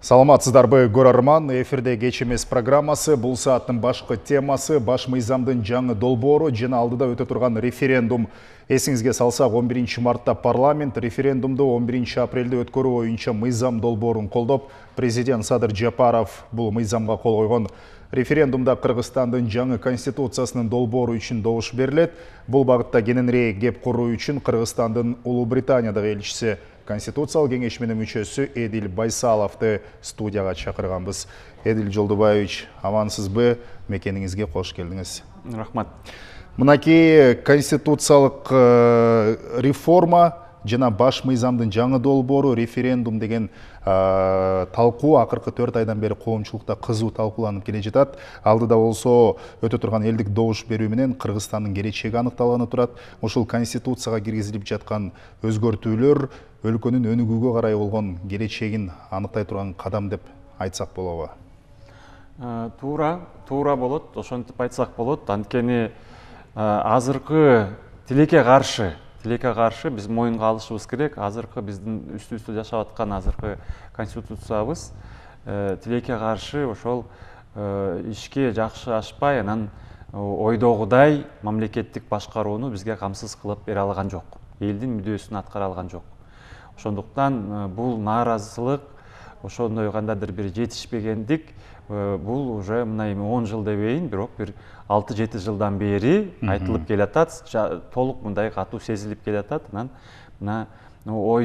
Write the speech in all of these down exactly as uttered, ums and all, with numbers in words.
Саламатсыздарбы көрөрман, эфирде кеч эмес программасы, бул сааттын башкы темасы баш мыйзамдын жаңы долбоору жана алдыда өтө турган референдум. Эсиңизге салсак, он биринчи мартта парламент референдумду он биринчи апрелде өткөрүү боюнча мыйзам долбоорун колдоп, президент Садыр Жапаров бул мыйзамга кол койгон. Референдумда Кыргызстандын жаңы конституциясынын долбоору үчүн добуш берилет. Бул багытта кененирээк кеп куруу үчүн Кыргызстандын Улуу Британиядагы элчиси Конституциялык кеңешменин мүчөсү Эдил Байсаловду студияга чакырганбыз. Эдил Жолдубаевич, амансызбы? Мекениңизге кош келдиңиз. Рахмат. Мынакей конституциялык реформа жана баш мыйзамдын жаңы долбоору референдум деген талкуу акыркы төрт айдан бери коомчулукта кызуу талкууланып келе жатат. Алдыда болсо өтө турган элдик добуш берүү менен Кыргызстандын келечеги аныкталганы турат. Ошол конституцияга киргизилип жаткан өзгөртүүлөр өлкөнүн өнүгүүгө карай болгон келечегин аныктай турган кадам деп айтсак болобу? Туура, туура болот, ошентип айтсак болот. Анткени азыркы тилекке каршы тилекке каршы биз моюнга алышыбыз керек. Азыркы биздин үстүбүздө жашап аткан азыркы конституциябыз тилекке каршы ошол ишке жакшы ашпай, анан ойдогудай мамлекеттик башкарууну бизге камсыз кылып бере алган жок. Элдин мүдөөсүн аткара алган жок. Ошондуктан бул нааразылык, ошондой кандайдыр бир жетишпегендик, бул уже мына эми он жыл дебейин, бирок бир алты жети жылдан бери айтылып келатат, толук мындай катуу сезилип келатат. Анан мына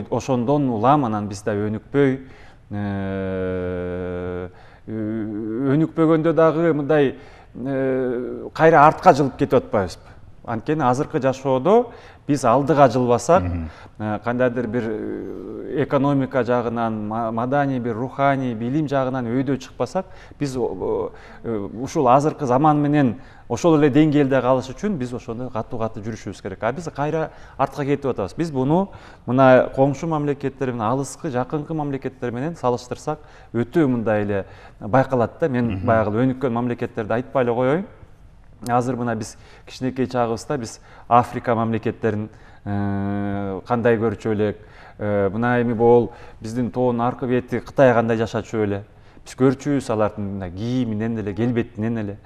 ошондон улам анан биз да өнүкпөй, өнүкпөгөндө дагы мындай кайра артка жылып кетип атпайбызбы? Анткени азыркы жашоодо биз алдыга жылбасак, кандайдыр бир экономика жагынан, маданий бир руханий билим жагынан өйдө чыкпасак, биз ушул азыркы заман менен ошол эле деңгээлде калыш үчүн биз ошондой катуу-катуу жүрүшүбүз керек. А биз кайра артка кетип атабыз. Биз буну мына коңшу мамлекеттер менен, алыскы, жакынкы мамлекеттер менен салыштырсак, өтө мындай эле байкалат да. Мен баягы өнүккөн мамлекеттерди айтпай эле коеюн. Азыр мына биз кичинекей чагыбызда биз Африка мамлекеттерин кандай көрчү элек, мына эми бул биздин тоонун аркы бети Кытай кандай жашачу эле, биз көрчүбүз алардын кийиминен эле, келбетинен эле.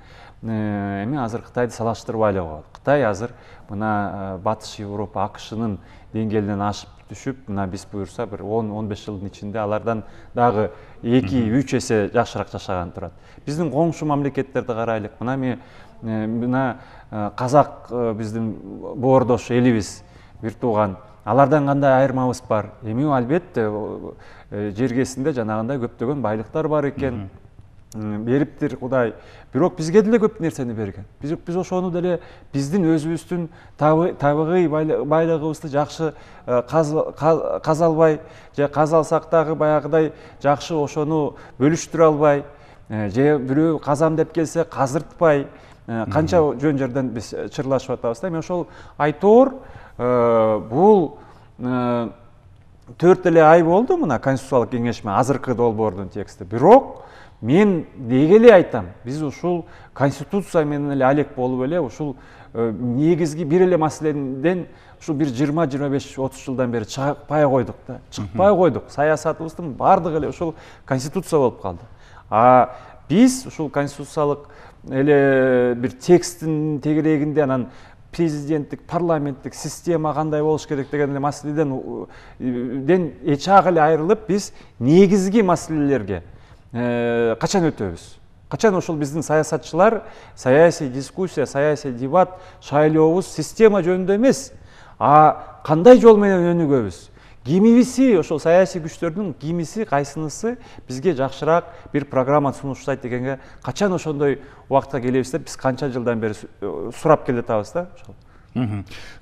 Эми азыр Кытайды салыштырбай эле коелу. Кытай азыр мына Батыш Европа, АКШнын деңгээлинен ашып түшүп, мына биз буюрса бир он он беш жылдын ичинде алардан дагы эки үч эсе жакшыраак жашаган турат. Биздин коңшу мамлекеттерди карайлык. Мына эми мына казак биздин боордош элибиз, бир тууган. Алардан кандай айырмабыз бар? Эми албетте жергесинде жанагындай көптөгөн байлыктар бар экен. Бериптир Кудай. Бирок бизге деле көп нерсени берген. Биз биз ошону деле биздин өзүбүздүн табигый байлыгыбызды жакшы казалбай, же казалсак дагы баягыдай жакшы ошону бөлүштүрө албай, же бирөө казам деп келсе казыртпай, канча жөн жерден биз чырлашып атабыз да. Эми ошол айтоор бул төрт эле ай болду мына конституциялык кеңешме азыркы долбоордун тексти. Бирок мен деги эле айтам, биз ушул конституция менен эле алек болуп эле ушул негизги бир эле маселеден ушул бир жыйырма жыйырма беш отуз жылдан бери чыкпай койдук да. Чыкпай койдук. Саясатыбыздын бардыгы эле ушул конституция болуп калды. А биз ушул конституциялык эле бир текстин тегерегинде анан президенттик, парламенттик система кандай болуш керек деген эле маселеден ден эчак эле айрылып, биз негизги маселелерге качан өтөбүз? Качан ошол биздин саясатчылар саясий дискуссия, саясий дебат, шайлообуз система жөнүндө эмес, а кандай жол менен өнүгөбүз? Кимибизи, ошол саясий күчтөрдүн кимиси, кайсынысы бизге жакшыраак бир программа сунуштайт дегенге качан ошондой убакытка келебиз деп биз канча жылдан бери сурап келатабыз да.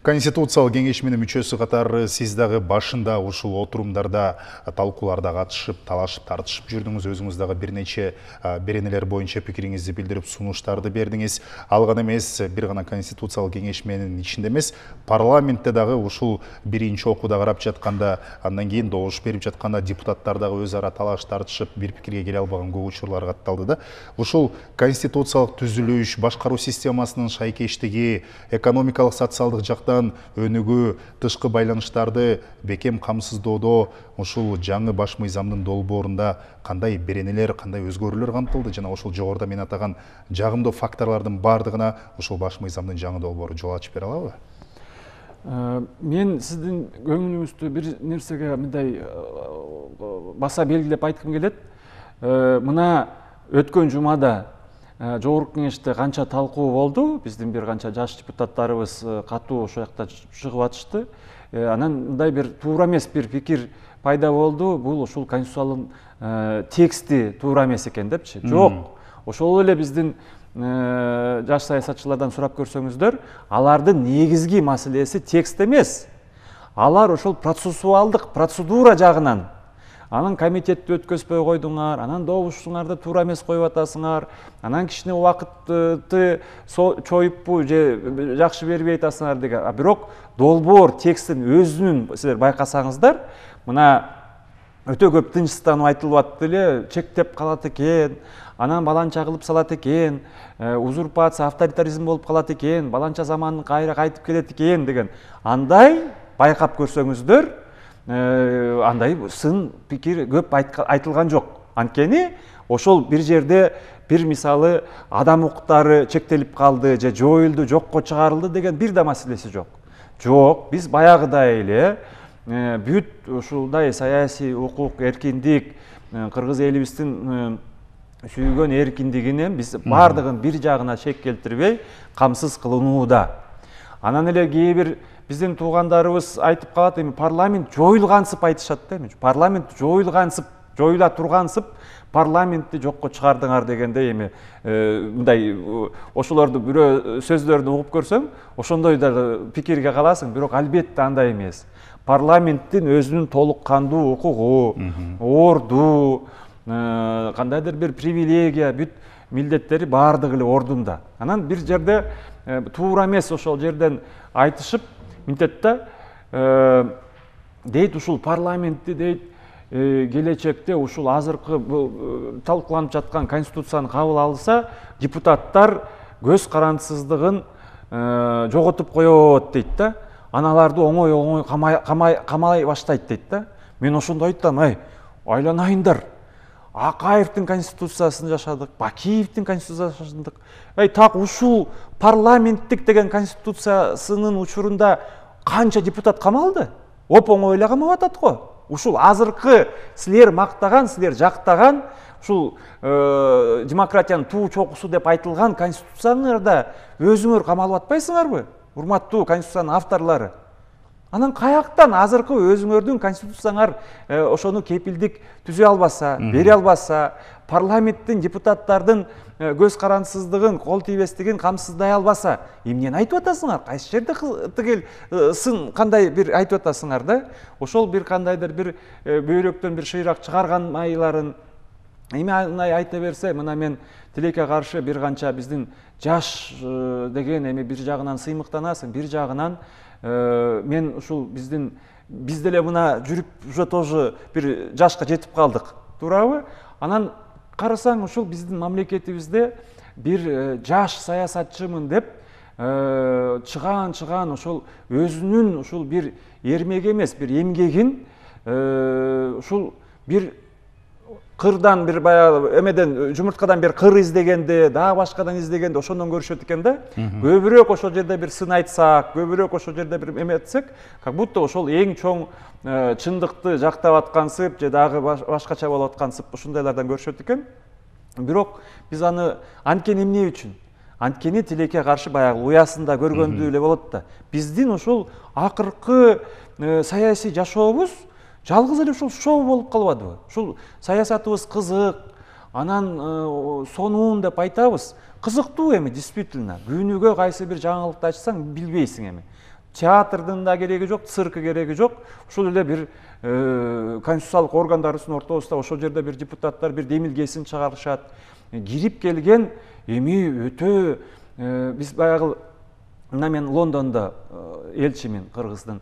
Конституциялык кеңешменин мүчөсү катары сиз дагы башында ушул отурумдарда, талкууларда катышып, талашып, тартышып жүрдүңүз. Өзүңүз дагы бир нече беренелер боюнча пикириңизди билдирип, сунуштарды бердиңиз. Ал гана эмес, бир гана конституциялык кеңешменин ичинде эмес, парламентте дагы ушул биринчи окууда карап жатканда, андан кийин добуш берип жатканда депутаттар дагы өз ара талаш тартышып, бир пикирге келе албаган көп учурлар катталды да. Ушул конституциялык түзүлүш, башкаруу системасынын шайкештиги, экономикалык социалдык жактан өнүгүү, тышкы байланыштарды бекем камсыздоодо ушул жаңы баш мыйзамдын долбоорунда кандай беренелер, кандай өзгөрүүлөр камтылды жана ошол жогоруда мен атаган жагымдуу факторлордун баардыгына ушул баш мыйзамдын жаңы долбоору жол ачып бере алабы? Мен сиздин көңүлүңүздү бир нерсеге мындай баса белгилеп айткым келет. Мына өткөн жумада жогорку кеңеште канча талкуу болду, биздин бир канча жаш депутаттарыбыз катуу ошол жакта чыгып атышты. Анан мындай бир туура эмес бир пикир пайда болду. Бул ушул конституциянын тексти туура эмес экен депчи. Жок. Ошол эле биздин жаш саясатчылардан сурап көрсөңүздөр, алардын негизги маселеси текст эмес. Алар ошол процессуалдык процедура жагынан. Анан комитетти өткөзбөй койдуңар, анан добушуңарды туура эмес коюп атасыңар, анан кичине убакытты чоюппу же жакшы бербей атасыңар деген. А бирок долбоор текстин өзүнүн силер байкасаңыздар, мына өтө көп тынчсызданып айтылып атты эле, чектеп калат экен, анан баланча кылып салат экен, узурпация, авторитаризм болуп калат экен, баланча заман кайра кайтып келет экен деген. Андай байкап көрсөңүздөр, андай сын пикир көп айтылган жок. Анткени ошол бир жерде бир мисалы адам укуктары чектелип калды же жоюлду, жокко чыгарылды деген бир да маселеси жок. Жок, биз баягыдай эле бүт ушулдай саясий укук, эркиндик, кыргыз элибиздин сүйгөн эркиндигинен биз бардыгын бир жагына шек келтирбей камсыз кылынууда. Анан эле кээ бир биздин туугандарыбыз айтып калат, эми парламент жоюлгансып айтышат да, эми парламент жоюлгансып, жоюла тургансып парламентти жокко чыгардыңар дегенде эми мындай ошолорду бирөө сөздөрүн угуп көрсөң, ошондой да пикирге каласың, бирок албетте андай эмес. Парламенттин өзүнүн толук кандуу укугу, орду, кандайдыр бир привилегия, бүт милдеттери баардыгы эле ордунда. Анан бир жерде туура эмес ошол жерден айтышып, мынтет да дейт ушул парламентти дейт келечекте ушул азыркы талкууланып жаткан конституцияны кабыл алса, депутаттар көз карандысыздыгын жоготуп коет дейт да. Аналарды оңой оңой камай баштайт дейт да. Мен ошондо айттым, ай, айланайындар. Акаевдин конституциясын жашадык, Бакиевдин конституциясын жашадык. Ай, так ушул парламенттик деген конституциясынын учурунда канча депутат камалды? Оп-оңой эле камап атат го. Ушул азыркы силер мактаган, силер жактаган, ушул демократиянын туу чокусу деп айтылган конституцияңарда өзүңөр камалып атпайсыңарбы? Урматтуу конституциянын авторлору. Анан каяктан азыркы өзүңөрдүн конституцияңар ошону кепилдик түзө албаса, бере албаса, парламенттин депутаттардын көз карандысыздыгын, кол тийбестигин камсыздай албаса, эмнени айтып атасыңар? Кайсы жерде тигил сын кандай бир айтып атасыңар да? Ошол бир кандайдыр бир бөйрөктөн бир шыйрак чыгарган майларын эми айта берсе, мына мен тилекке каршы бир канча биздин жаш деген эми бир жагынан сыймыктанасың, бир жагынан мен ушул биздин биз деле мына жүрүп уже тоже бир жашка жетип калдык, туурабы? Анан карасаң ушул биздин мамлекетибизде бир жаш саясатчымын деп чыган чыган ошол өзүнүн ушул бир эрмеги эмес, бир эмгегин ушул бир кырдан бир баягы эмеден жумурткадан бир кыр издегенде, дагы башкадан издегенде ошондон көрүшөт экен да. Көбүрөөк ошол жерде бир сын айтсак, көбүрөөк ошол жерде бир эме этсек, как будто ошол эң чоң чындыкты жактап аткансып же дагы башкача болуп аткансып ушундайлардан көрүшөт экен. Бирок биз аны анткени эмне үчүн? Анткени тилекке каршы баягы уясында көргөндүү эле болот да. Биздин ушул акыркы саясий жашообуз жалгыз эле ушул шоу болуп калбадыбы? Ушул саясатыбыз кызык, анан сонун деп айтабыз. Кызыктуу эми действительно. Күнүгө кайсы бир жаңылыкты ачсаң билбейсиң эми. Театрдын да кереги жок, цирк кереги жок. Ушул эле бир конституциялык органдарыбыздын ортосунда ошол жерде бир депутаттар бир демилгесин чыгарышат. Кирип келген эми өтө биз баягы мына мен Лондондо элчимин Кыргыздын.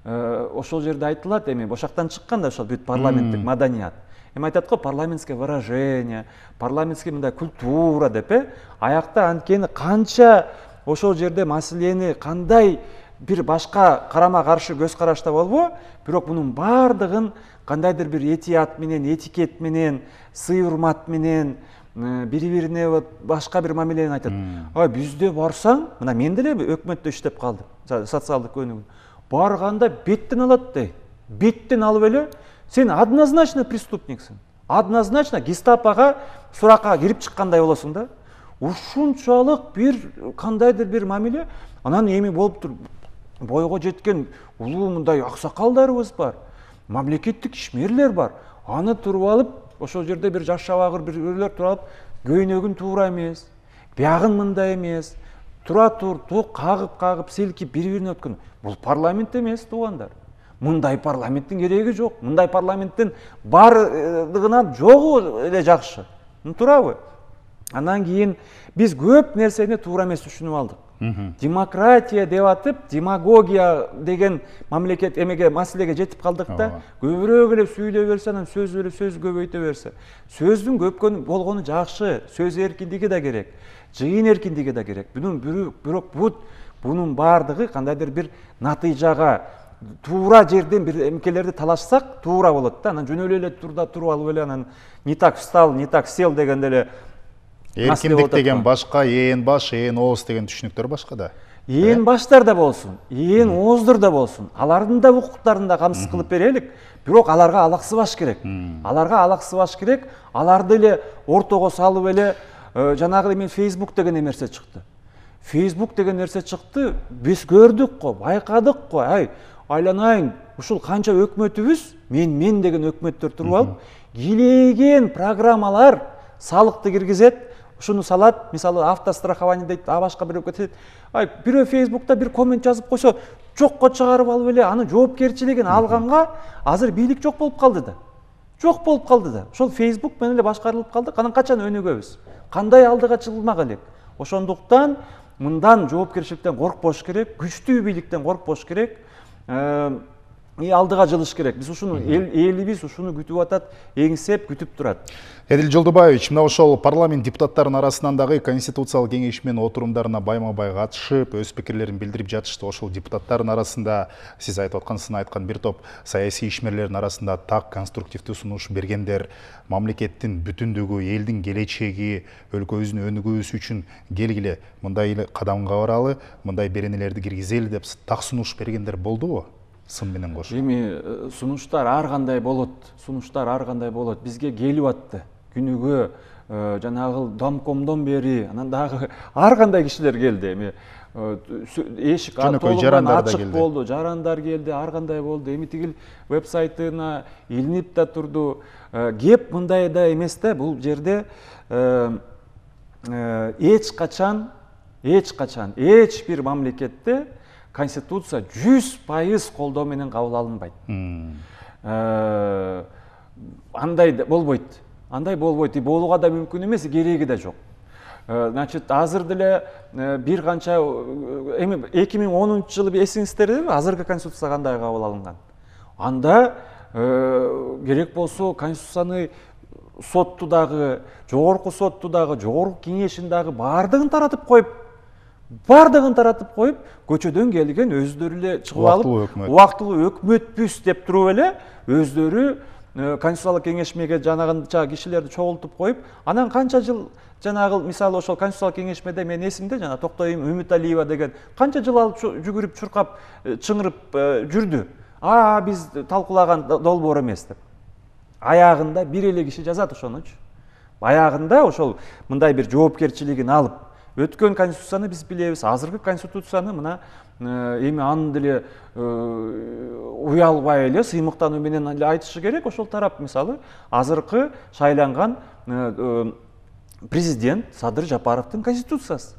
Ошол жерде айтылат эми ошактан чыккан да ошол бүт парламенттик маданият. Эми айтат го парламентское выражение, парламентский мындай культура деп, аякта анткени канча ошол жерде маселени кандай бир башка карама каршы көз карашта болбо, бирок мунун баардыгын кандайдыр бир этият менен, этикет менен, сый урмат менен, бири бирине башка бир мамилени айтат. А бизде барсаң, мына мен деле өкмөттө иштеп калдым, социалдык көнүгүү. Барганда беттен алат дей. Беттен алып эле сен однозначно преступниксиң. Однозначно гестапога суракка кирип чыккандай болосуң да. Ушунчалык бир кандайдыр бир мамиле, анан эми болуп тур. Бойго жеткен улуу мындай аксакалдарыбыз бар. Мамлекеттик ишмерлер бар. Аны туруп алып, ошол жерде бир жаш шабагыр бирлер туруп алып, көйнөгүн туура эмес, биягын мындай эмес, тура тур, ток кагып-кагып, силкип бири-бирине өткөн. Бул парламент эмес, туугандар. Мындай парламенттин кереги жок. Мындай парламенттин бардыгынан жогу эле жакшы. Туурабы? Андан кийин биз көп нерсени туура эмес түшүнүп алдык. Демократия деп атып, демагогия деген мамлекет эмеге маселеге жетип калдык да, көбүрөөк эле сүйлөй берсе, анан сөз эле сөз көбөйтө берсе. Сөздүн көпкөн болгону жакшы, сөз эркиндиги да керек, жыйын эркиндиги да керек. Бунун бирок бунун баардыгы кандайдыр бир натыйжага туура жерден бир эмкелерди талашсак, туура болот да. Анан жөн эле турда туруп алып эле анан не так встал, не так сел дегенде эле эркиндик деген башка, ээн баш, ээн ооз деген түшүнүктөр башка да. Ээн баштар да болсун, ээн ооздор да болсун. Алардын да укуктарын да камсыз кылып берелик. Бирок аларга алаксыбаш керек. Аларга алаксыбаш керек. Аларды эле ортого салып эле жанагы эми Facebook деген нерсе чыкты. Facebook деген нерсе чыкты. Биз көрдүк го, байкадык го. Ай, айланайын, ушул канча өкмөтүбүз, мен мен деген өкмөттөр туруп алып, килеген программалар салыкты киргизет. Ушуну салат, мисалы автострахование дейт, а башка бирөө кетет. Ай, бирөө Facebook'та бир коммент жазып койсо, жокко чыгарып алып эле анын жоопкерчилигин алганга азыр бийлик жок болуп калды да. Жок болуп калды да. Ошол Facebook менен эле башкарылып калдык. Анан качан өнүгөбүз? Кандай алдыга чыгылмак элек? Ошондуктан мындан жоопкерчиликтен коркпош керек, күчтүү бийликтен коркпош керек. И алдыга жылыш керек. Биз ушуну элибиз ушуну күтүп атат, эңсеп күтүп турат. Эдил Жолдубаевич, мына ошол парламент депутаттарынын арасынан дагы конституциялык кеңеш менен отурумдарына байма-бай катышып, өз пикирлерин билдирип жатышты. Ошол депутаттардын арасында сиз айтып аткансына айткан бир топ саясий ишмерлердин арасында так конструктивдүү сунуш бергендер, мамлекеттин бүтүндүгү, элдин келечеги, өлкөбүздүн өнүгүүсү үчүн келгиле мындай эле кадамга баралы, мындай беренелерди киргизели деп так сунуш бергендер болдубу? Сын менен кош. Эми сунуштар ар кандай болот, сунуштар ар кандай болот. Бизге келип атты. Күнүгө жанагы домкомдон бери, анан дагы ар кандай кишилер келди. Эми эшик толугунан ачык болду, жарандар келди, ар кандай болду. Эми тигил вебсайтына илинип да турду. Кеп мындай да эмес да, бул жерде эч качан, эч качан, эч бир мамлекетте Конституция жүз пайыз колдоо менен кабыл алынбайт. Андай болбойт. Андай болбойт. Болууга да мүмкүн эмес, кереги да жок. Значит, азыр деле бир канча эми эки миң онунчу жылы эсиңиздерби, азыркы Конституция кандай кабыл алынган? Анда керек болсо Конституцияны сотту дагы, жогорку сотту дагы, жогорку кеңешин дагы баардыгын таратып коюп, бардыгын таратып коюп, көчөдөн келген өздөрү эле чыгып алып, убактылуу өкмөтпүз деп туруп эле өздөрү конституциялык кеңешмеге жанагынча кишилерди чогултуп коюп, анан канча жыл жанагы мисалы ошол конституциялык кеңешмеде мен эсимде жана Токтой Үмүталиева деген канча жыл алып жүгүрүп, чуркап, чыңырып жүрдү. А биз талкуулаган долбоор эмес деп. Аягында бир эле киши жазат ошонучу. Аягында ошол мындай бир жоопкерчилигин алып, өткөн конституцияны биз билебиз, азыркы конституцияны мына эми аны деле уялбай эле сыймыктануу менен эле айтышы керек. Ошол тарап мисалы азыркы шайланган президент Садыр Жапаровдун конституциясы.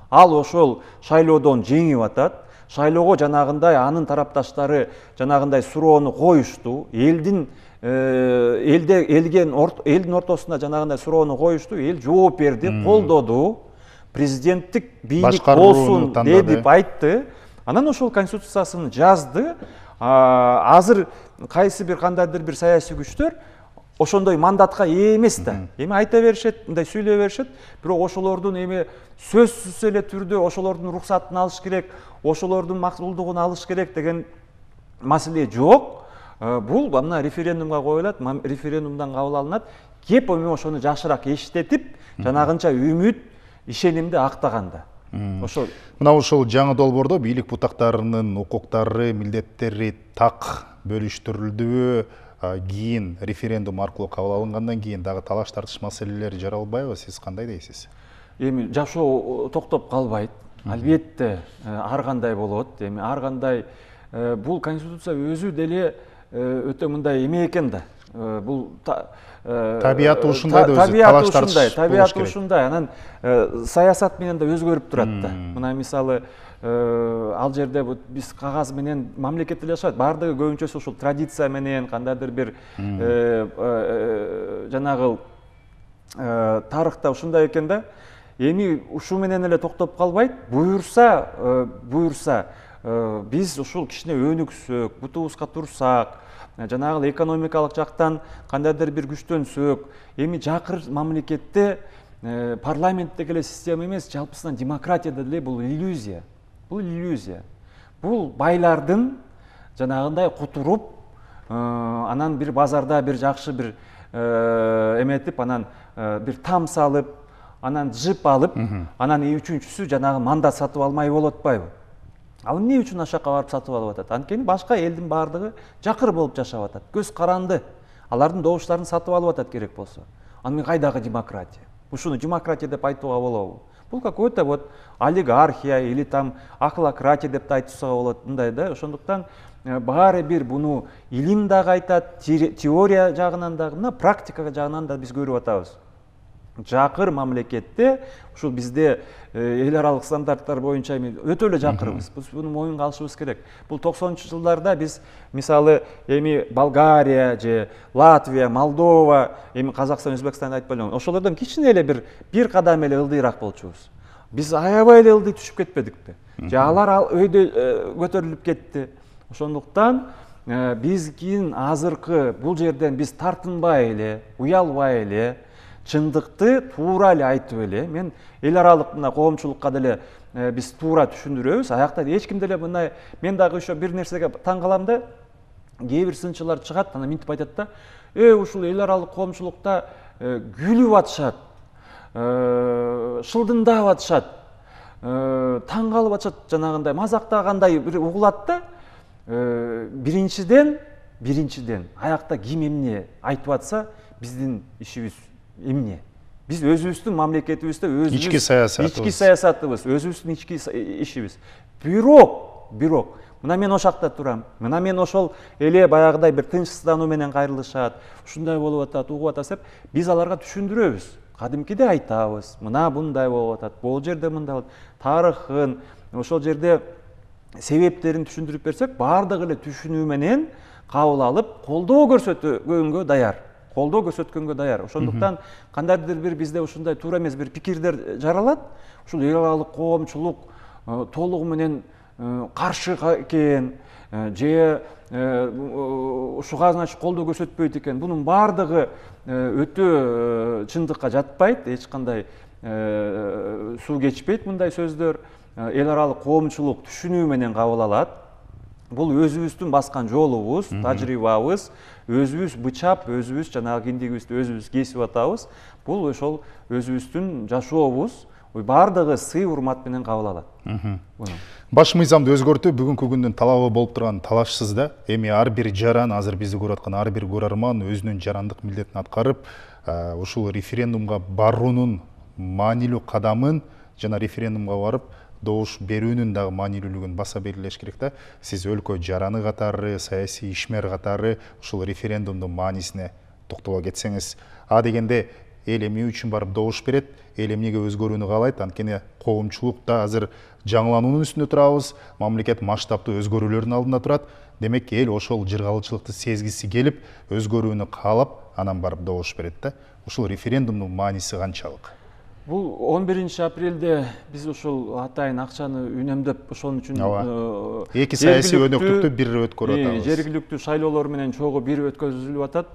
Ал ошол шайлоодон жеңип атат. Шайлоого жанагындай анын тарапташтары жанагындай суроону коюшту. Элдин элде элген элдин ортосунда жанагындай суроону коюшту. Эл жооп берди, колдоду. Президенттик бийлик болсун деп айтты. Анан ошол конституциясын жазды. Азыр кайсы бир кандайдыр бир саясий күчтөр ошондой мандатка ээ эмес да. Эми айта беришет, мындай сүйлөй беришет, бирок ошолордун эми сөзсүз эле түрдө ошолордун уруксатын алыш керек, ошолордун макулдугун алыш керек деген маселе жок. Бул мына референдумга коюлат, референдумдан кабыл алынат. Кеп эми ошону жакшыраак эчтетип, жанагынча үмүт, ишенимди актаганда. Ошол мына ушул жаңы долбоордо бийлик бутактарынын укуктары, милдеттери так бөлүштүрүлдүбү? Кийин референдум аркылуу кабыл алынгандан кийин дагы талаш тартыш маселелери жаралбайбы? Сиз кандай дейсиз? Эми жашоо токтоп калбайт. Албетте ар кандай болот. Эми ар кандай бул конституция өзү деле өтө мындай эме экен да. Бул табияты ушундай да өзү талаш тартыш. Табияты ушундай. Анан саясат менен да өзгөрүп турат да. Мына мисалы ал жерде биз кагаз менен мамлекет эле жашайт. Бардыгы көбүнчөсү ушул традиция менен кандайдыр бир жанагы тарыхта ушундай экен да. Эми ушу менен эле токтоп калбайт. Буюрса, буюрса биз ушул кичине өнүксөк, бутубузга турсак, жанагы экономикалык жактан кандайдыр бир күчтөнсөк, эми жакыр мамлекетте парламенттеги эле система эмес, жалпысынан демократияда деле бул иллюзия. Бул иллюзия. Бул байлардын жанагындай кутуруп, анан бир базарда бир жакшы бир эметип, анан бир там салып, анан жып алып, анан үчүнчүсү жанагы мандат сатып алмай болуп атпайбы? Ал эмне үчүн ашакка барып сатып алып атат? Анткени башка элдин бардыгы жакыр болуп жашап атат. Көз каранды. Алардын добуштарын сатып алып атат керек болсо. Аны кайдагы демократия? Ушуну демократия деп айтууга болобу? Бул какой-то вот олигархия или там ахлократия деп да айтсага болот, мындай да. Ошондуктан баары бир буну илим дагы айтат, теория жагынан дагы, мына практика жагынан да биз көрүп атабыз. Жакыр мамлекетте ушул бизде эл аралык стандарттар боюнча өтө эле жакырбыз. Биз буну моюнга алышыбыз керек. Бул токсонунчу жылдарда биз мисалы эми Болгария же Латвия, Молдова, эми Казакстан, Өзбекстанды айтпай элем. Ошолордон кичине эле бир бир кадам эле ылдыйраак болчубуз. Биз аябай эле ылдый түшүп кетпедикпи? Же алар өйдө көтөрүлүп кетти. Ошондуктан биз кийин азыркы бул жерден биз тартынбай эле, уялбай эле, чындыкты туура эле айтып эле, мен эл аралык мына коомчулукка деле биз туура түшүндүрөбүз. Аякта эч ким деле мындай, мен дагы ошо бир нерсеге таң калам да, кээ бир сынчылар чыгат, анан минтип айтат да, э ушул эл аралык коомчулукта күлүп атышат, шылдыңдап атышат, таң калып атышат, жанагындай мазактагандай бир угулат да. Биринчиден, биринчиден аякта ким эмне айтып атса, биздин ишибиз эмне? Биз өзүбүздүн мамлекетибизде өзүбүз ички саясатыбыз, ички саясатыбыз, өзүбүздүн ички ишибиз. Бирок, бирок мына мен ошакта турам. Мына мен ошол эле баягыдай бир тынчсыздануу менен кайрылышат, ушундай болуп атат, угуп атат деп биз аларга түшүндүрөбүз. Кадимкиде айтабыз. Мына мындай болуп атат, бул жерде мындай болот. Тарыхын, ошол жерде себептерин түшүндүрүп берсек, бардыгы эле түшүнүү менен кабыл алып, колдоо көрсөткөнгө даяр. Колдоо көрсөткөнгө даяр. Ошондуктан кандайдыр бир бизде ушундай туура эмес бир пикирлер жаралат. Ушул эл аралык коомчулук толугу менен каршы экен, же ушуга значит колдоо көрсөтпөйт экен. Бунун бардыгы өтө чындыкка жатпайт, эч кандай суу кечпейт мындай сөздөр. Эл аралык коомчулук түшүнүү менен кабыл алат. Бул өзүбүздүн баскан жолубуз, тажрыйбабыз, өзүбүз бычап, өзүбүз жанагы киндигибизди өзүбүз кесип атабыз. Бул ошол өзүбүздүн жашообуз, бардыгы сый урмат менен кабыл алат. Баш мыйзамды өзгөртүү бүгүнкү күндүн талабы болуп турган талашсыз да. Эми ар бир жаран, азыр бизди көрүп аткан ар бир көрөрман өзүнүн жарандык милдетин аткарып, ушул референдумга баруунун маанилүү кадамын жана референдумга барып добуш берүүнүн дагы маанилүүлүгүн баса белгилеш керек да. Сиз өлкө жараны катары, саясий ишмер катары ушул референдумдун маанисине токтоло кетсеңиз. А дегенде эл эмне үчүн барып добуш берет, эл эмнеге өзгөрүүнү каалайт? Анткени коомчулукта азыр жаңылануунун үстүндө турабыз, мамлекет масштабтуу өзгөрүүлөрдүн алдында турат. Демек эл ошол жыргалычылыкты сезгиси келип, өзгөрүүнү каалап, анан барып добуш берет да. Ушул референдумдун мааниси канчалык? Бул он биринчи апрелде биз ушул атайын акчаны үнөмдөп, ошон үчүн эки саясий өнөктүктү бир өткөрүп атабыз. Жергиликтүү шайлоолор менен чогуу бир өткөзүлүп атат.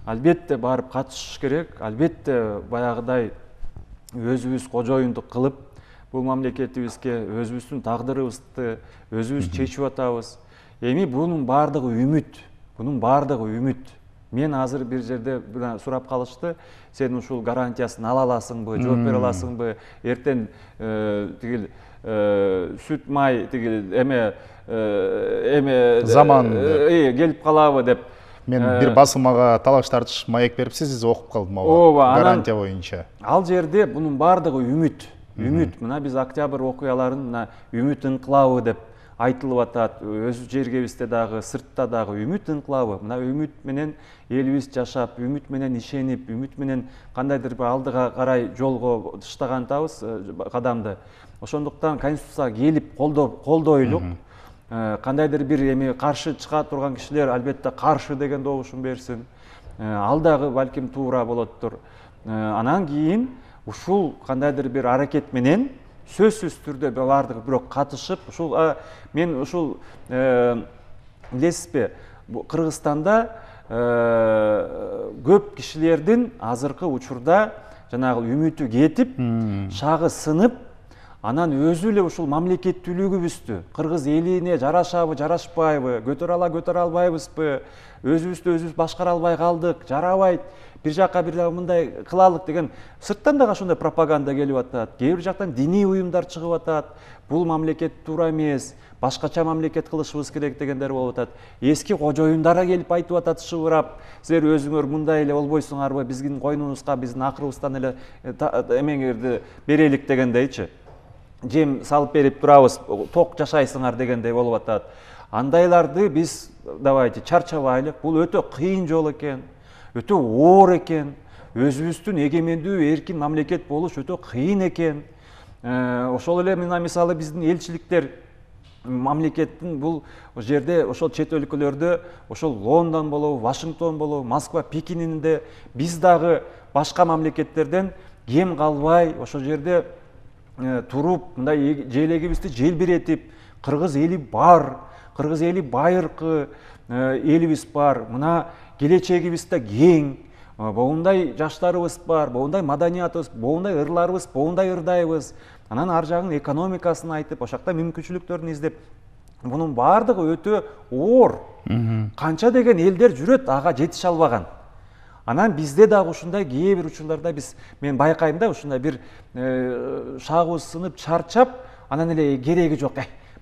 албетте барып катышыш керек, албетте баягыдай өзүбүз кожоюндук кылып бул мамлекетибизге өзүбүздүн тагдырыбызды өзүбүз чечип атабыз. Эми бунун баардыгы үмүт, бунун баардыгы үмүт. Мен азыр бир жерде сурап калышты, сен ушул гарантиясын ала аласыңбы, жооп бере аласыңбы, эртең тигил сүт май тигил эме эме заман келип калабы деп. Мен бир басылмага талаш тартыш маек берипсиз, окуп калдым ооба. Гарантия боюнча. Ал жерде бунун баардыгы үмүт. Үмүт. Мына биз октябрь окуяларын мына үмүт инкылабы деп айтылып атат. Өз жергебизде дагы, сыртта дагы үмүт инкылабы. Мына үмүт менен элибиз жашап, үмүт менен ишенип, үмүт менен кандайдыр бир алдыга карай жолго таштагандабыз кадамды. Ошондуктан конституцияга келип колдойлук. Кандайдыр бир эми каршы чыга турган кишилер албетте каршы деген добушун берсин. Ал дагы балким туура болоттур. Анан кийин ушул кандайдыр бир аракет менен сөзсүз түрдө баардыгы бирок катышып, ушул мен ушул билесизби, Кыргызстанда көп кишилердин азыркы учурда жанагы үмүтү кетип, шагы сынып, анан өзү эле ушул мамлекеттүүлүгүбүздү, кыргыз элине жарашабы, жарашпайбы, көтөрө ала, көтөрө албайбызбы, өзүбүздү өзүбүз башкара албай калдык, жарабайт, бир жакка бир мындай кылалык деген сырттан дагы ошондой пропаганда келип атат. Кээ бир жактан диний уюмдар чыгып атат. Бул мамлекет туура эмес, башкача мамлекет кылышыбыз керек дегендер болуп атат. Эски кожоюндар келип айтып атат шыбырап, силер өзүңөр мындай эле болбойсуңарбы, биздин койнубузга, биздин акырыбыздан эле эмеңерди берелик дегендейчи. Жем салып берип турабыз, ток жашайсыңар дегендей болуп атат. Андайларды биз давайте чарчабайлык. Бул өтө кыйын жол экен, өтө оор экен. Өзүбүздүн эгемендүү, эркин мамлекет болуш өтө кыйын экен. Ошол эле мына мисалы биздин элчиликтер мамлекеттин бул жерде ошол чет өлкөлөрдө, ошол Лондон болобу, Вашингтон болобу, Москва, Пекининде биз дагы башка мамлекеттерден кем калбай ошол жерде туруп, мындай желегибизди желбиретип, кыргыз эли бар, кыргыз эли байыркы элибиз бар, мына келечегибиз да кең, боундай жаштарыбыз бар, боундай маданиятыбыз, боундай ырларыбыз, боундай ырдайбыз. Анан ар жагын экономикасын айтып, ошакта мүмкүнчүлүктөрүн издеп, мунун баардыгы өтө оор. Канча деген элдер жүрөт, ага жетише албаган. Анан бизде дагы ушундай кээ бир учурларда биз мен байкайм да, ушундай бир шагыбыз сынып, чарчап, анан эле кереги жок,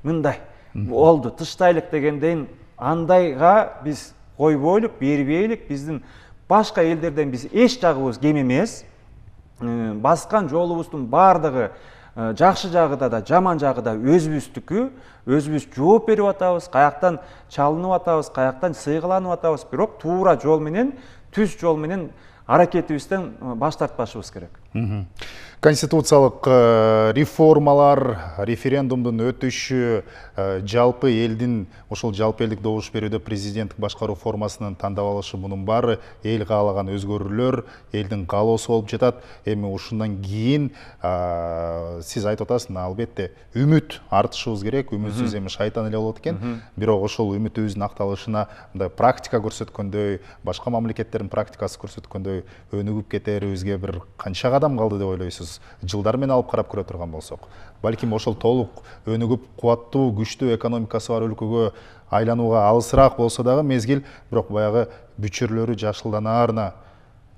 мындай болду, тыштайлык дегенден андайга биз койбойлук, бербейлик. Биздин башка элдерден биз эч жагыбыз кем эмес. Баскан жолубуздун баардыгы жакшы жагы да, жаман жагы да өзүбүздүкү. Өзүбүз жооп берип атабыз, каяктан чалынып атабыз, каяктан сыйгыланып атабыз, бирок туура жол менен, түз жол менен аракетибизден баш тартпашыбыз керек. Конституциялык реформалар, референдумдун өтүшү, жалпы элдин ошол жалпы элдик добуш берүүдө президенттик башкаруу формасынын тандап алышы, мунун баары эл каалаган өзгөрүүлөр, элдин каалоосу болуп жатат. Эми ушундан кийин сиз айтып атасыз, албетте үмүт артышыбыз керек, үмүтсүз эми шайтан эле болот экен. Бирок ошол үмүтүбүздүн акталышына мындай практика көрсөткөндөй, башка мамлекеттердин практикасы көрсөткөндөй өнүгүп кетерибизге бир канча кадам калды деп ойлойсуз? Жылдар менен алып карап көрө турган болсок, балким ошол толук өнүгүп, кубаттуу, күчтүү экономикасы бар өлкөгө айланууга алысыраак болсо дагы мезгил, бирок баягы бүчүрлөрү жашылданаарына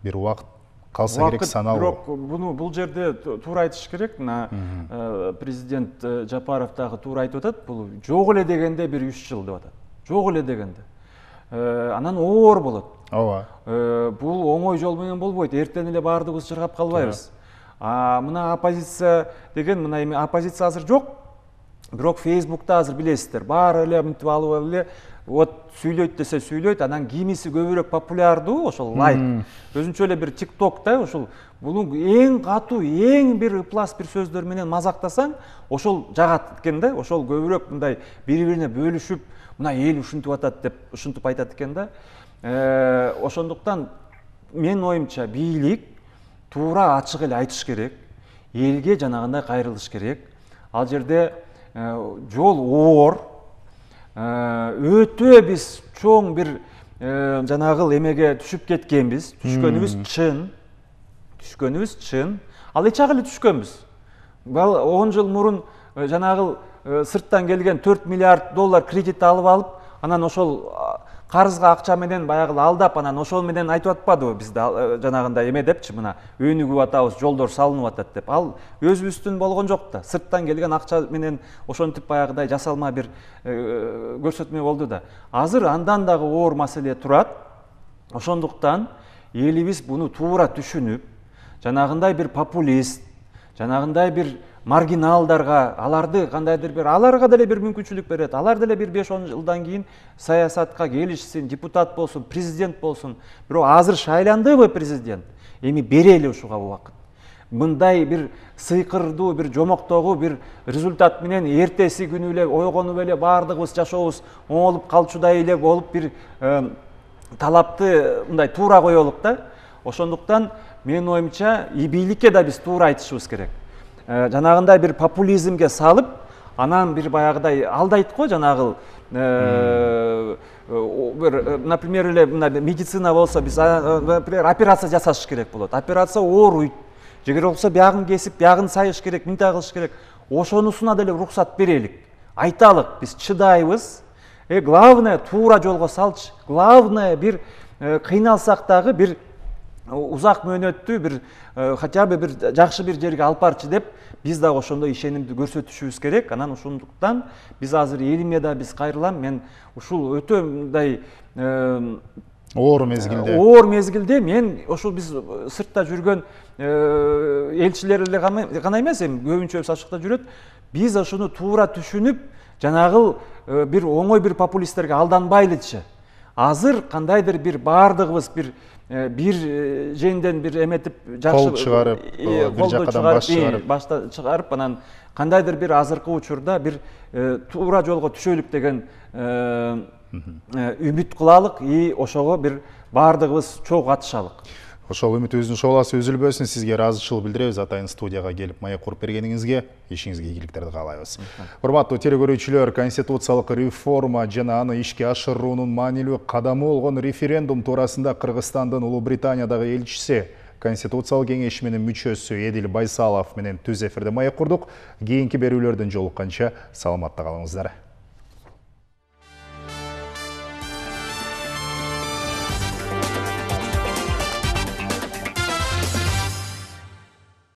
бир убакыт калса керек саналуу. Бирок буну бул жерде туура айтыш керек. Мына президент Жапаров дагы туура айтып атат, бул жок эле дегенде бир үч жыл деп атат. Жок эле дегенде. Анан оор болот. Ооба. Бул оңой жол менен болбойт. Эртең эле баардыгыбыз чыргап калбайбыз. А мына оппозиция деген, мына эми оппозиция азыр жок. Бирок Facebook'та азыр билесиздер, баары эле мынтип алып эле вот сүйлөйт десе сүйлөйт, анан кимиси көбүрөөк популярдуу, ошол лайк. Өзүнчө эле бир TikTok'та ошол бунун эң катуу, эң бир ыплас бир сөздөр менен мазактасаң, ошол жагат экен да, ошол көбүрөөк мындай бири-бирине бөлүшүп, мына эл ушинтип атат деп ушинтип айтат экен да. Ошондуктан менин оюмча бийлик туура ачык эле айтыш керек, элге жанагындай кайрылыш керек. Ал жерде жол оор, өтө биз чоң бир жанагыл эмеге түшүп кеткенбиз. Түшкөнүбүз чын. Түшкөнүбүз чын. Ал эч ак эле түшкөнбүз. он жыл мурун жанагыл сырттан келген төрт миллиард доллар кредит алып алып, анан ошол карызга акча менен баягы алдап, анан ошол менен айтып атпадыбы бизде жанагындай эме депчи, мына өнүгүп атабыз, жолдор салынып атат деп. Ал өзүбүздүн болгон жок да. Сырттан келген акча менен ошентип баягыдай жасалма бир көрсөтмө болду да. Азыр андан дагы оор маселе турат. Ошондуктан элибиз буну туура түшүнүп, жанагындай бир популист, жанагындай бир маргиналдарга, аларды кандайдыр бир, аларга деле бир мүмкүнчүлүк берет. Алар деле бир беш он жылдан кийин саясатка келишсин, депутат болсун, президент болсун. Бирок азыр шайландыбы президент? Эми берели ушуга убакыт. Мындай бир сыйкырдуу, бир жомоктогу бир результат менен эртеси күнү эле ойгонуп эле баардыгыбыз жашообуз оңолуп калчудай эле болуп бир талапты мындай туура коелук да. Ошондуктан менин оюмча и бийликке да биз туура айтышыбыз керек. Жанагындай бир популизмге салып, анан бир баягыдай алдайт го жанагыл. Бир, например, эле мына медицина болсо, биз например операция жасаш керек болот. Операция ооруйт. Жегер болсо биягын кесип, биягын сайыш керек, мындай кылыш керек. Ошонусуна деле уруксат берелик. Айталык, биз чыдайбыз. Э, главное туура жолго салчы. Главное бир кыйналсак дагы бир узак мөөнөттүү бир хотя бы бир жакшы бир жерге алып барчы деп биз дагы ошондой ишенимди көрсөтүшүбүз керек. Анан ошондуктан биз азыр элиме да биз кайрылам, мен ушул өтө мындай оор мезгилде оор мезгилде мен ошол биз сыртта жүргөн элчилер эле гана эмес, эми көбүнчөбүз ашыкта жүрөт. Биз ошону туура түшүнүп, жанагыл бир оңой бир популисттерге алданбайлычы. Азыр кандайдыр бир баардыгыбыз бир бир жеңден бир эметип жакшы кол чыгарып, бир жакадан баш чыгарып, башта чыгарып, анан кандайдыр бир азыркы учурда бир туура жолго түшөлүк деген үмүт кылалык и ошого бир баардыгыбыз чогуу катышалык. Ошол үмүтүбүздүн шооласы үзүлбөсүн. Сизге ыраазычылык билдиребиз. Атайын студияга келип маек куруп бергениңизге, ишиңизге ийгиликтерди каалайбыз. Урматтуу телекөрүүчүлөр, конституциялык реформа жана аны ишке ашыруунун маанилүү кадамы болгон референдум туурасында Кыргызстандын Улуу Британиядагы элчиси, Конституциялык кеңеши мүчөсү Эдил Байсалов менен түз эфирде маек курдук. Кийинки берүүлөрдөн жолукканча саламатта калыңыздар.